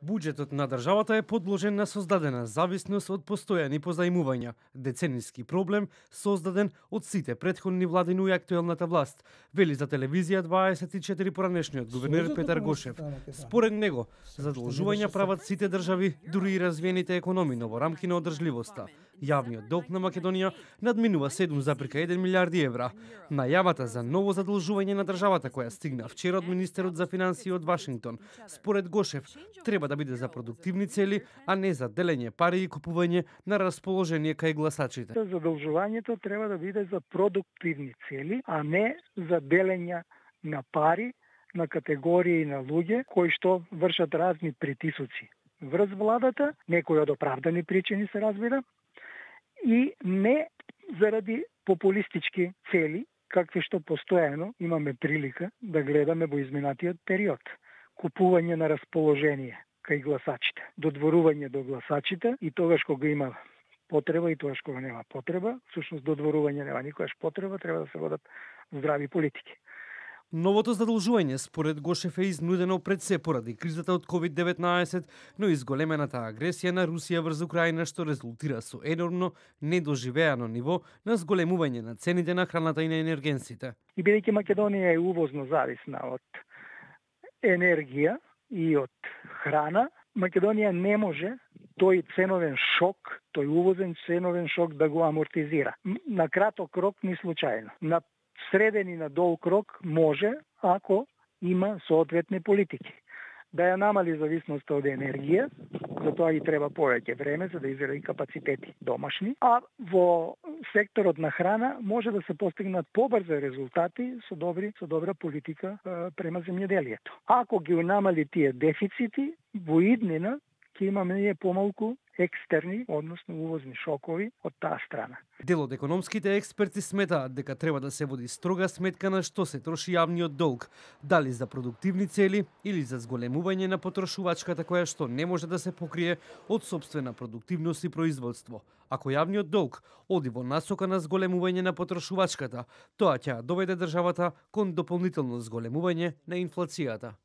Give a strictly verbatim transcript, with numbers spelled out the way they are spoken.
Буџетот на државата е подложен на создадена зависност од постојани позаимувања, децениски проблем создаден од сите претходни владини и актуелната власт, вели за телевизија дваесет и четири поранешниот гувернер Петар Гошев. Според него, задолжувања прават сите држави, дури и развиените економии, но во рамки на одржливоста. Јавниот долг на Македонија надминува седум зарез еден милијарди евра. Најавата за ново задолжување на државата која стигна вчера од министерот за финансии од Вашингтон, според Гошев, треба да биде за продуктивни цели, а не за делење пари и купување на расположение кај гласачите. Задолжувањето треба да биде за продуктивни цели, а не за делење на пари на категории на луѓе кои што вршат разни притисоци врз владата, некои од оправдани причини се разбира, и не заради популистички цели, какви што постојано имаме прилика да гледаме во изминатиот период. Купување на расположение кај гласачите, додворување до гласачите и тогаш кога има потреба и тогаш кога нема потреба, всушност додворување нема никогаш потреба, треба да се водат здрави политики. Новото задолжување според Гошев е изнудено пред се поради кризата од ковид деветнаесет, но и зголемената агресија на Русија врз Украина што резултира со енормно недоживеано ниво на зголемување на цените на храната и на енергенсите. И бидејќи Македонија е увозно зависна од енергија и од храна, Македонија не може тој ценовен шок, тој увозен ценовен шок да го амортизира. На краток рок ни случајно. На среден и на долг рок може, ако има соодветни политики. Да ја намали зависноста од енергија, за тоа и треба повеќе време за да изгради капацитети домашни, а во секторот на храна може да се постигнат побрзо резултати со добри со добра политика е, према земјоделието. Ако ги намали тие дефицити, во иднина ќе имаме ние помалку екстерни, односно увозни шокови од таа страна. Дел од економските експерти сметаат дека треба да се води строга сметка на што се троши јавниот долг, дали за продуктивни цели или за зголемување на потрошувачката која што не може да се покрие од сопствена продуктивност и производство. Ако јавниот долг оди во насока на зголемување на потрошувачката, тоа ќе доведе државата кон дополнително зголемување на инфлацијата.